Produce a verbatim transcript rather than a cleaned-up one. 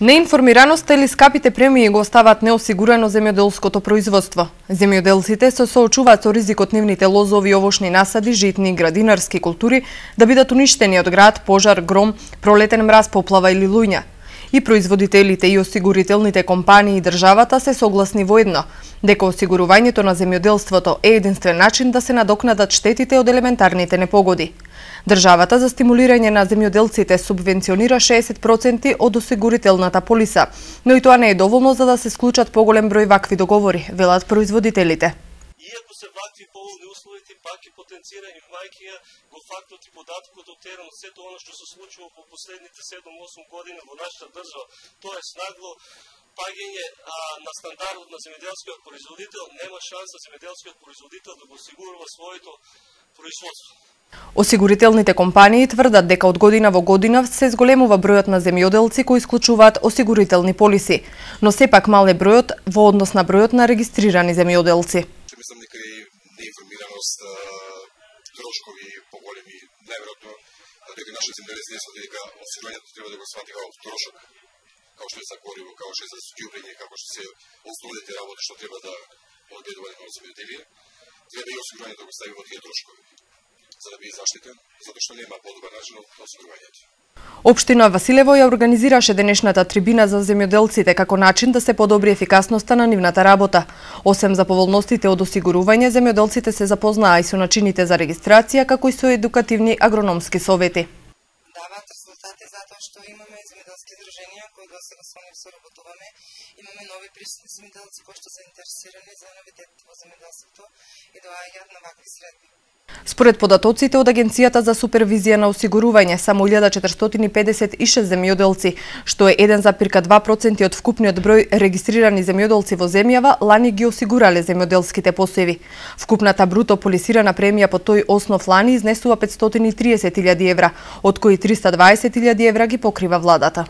Неинформираноста или скапите премии го оставаат неосигурено земјоделското производство. Земјоделците се соочуваат со ризикот нивните лозови, овошни насади, житни и градинарски култури да бидат уништени од град, пожар, гром, пролетен мраз, поплава или луѓа. И производителите и осигурителните компании и државата се согласни воедно дека осигурувањето на земјоделството е единствен начин да се надокнадат штетите од елементарните непогоди. Државата за стимулирање на земјоделците субвенционира шеесет проценти од осигурителната полиса, но и тоа не е доволно за да се склучат поголем број вакви договори, велат производителите. Иако се вакви поволни условите, пак и потенцира имајќи ја го фактот и податкот од терен, сето оно што се случува по последните седум-осум години во нашата држава, тоа е нагло паѓање на стандардот на земјоделскиот производител, нема шанса земјоделскиот производител да го осигурува своето производство. Осигурителните компании тврдат дека од година во година се зголемува бројот на земјоделци кои исклучуваат осигурителни полиси, но сепак мал е бројот во однос на бројот на регистрирани земјоделци. Мислам дека и неинформираност, трошкови поголеми, најверојатно дека нашите земјоделци не сватат дека осигурувањето треба да го свати како трошок, како што е за гориво, како што е за ѓубрење, како што се основните работи што треба да одбедуваат како земјоделие, треба и осигурувањето да го стави во тие трошкови, за да биде заштитен, затоа што нема подобар начин од осигурувањето. Општина Василево ја организираше денешната трибина за земјоделците како начин да се подобри ефикасноста на нивната работа. Освен за поволностите од осигурување, земјоделците се запознаа и со начините за регистрација, како и со едукативни агрономски совети. Даваат резултати затоа што имаме земјоделски здруженија кои до сега со нив соработуваме. Имаме нови присутни земјоделци кои што се интересирани за новитетите во земјоделството и доаѓаат на вакви средби. Според податоците од Агенцијата за супервизија на осигурување, само илјада четиристотини и педесет и шест земјоделци, што е еден зарез два проценти од вкупниот број регистрирани земјоделци во земјава, лани ги осигурале земјоделските посеви. Вкупната бруто полисирана премија по тој основ лани изнесува петстотини и триесет илјади евра, од кои триста дваесет илјади евра ги покрива владата.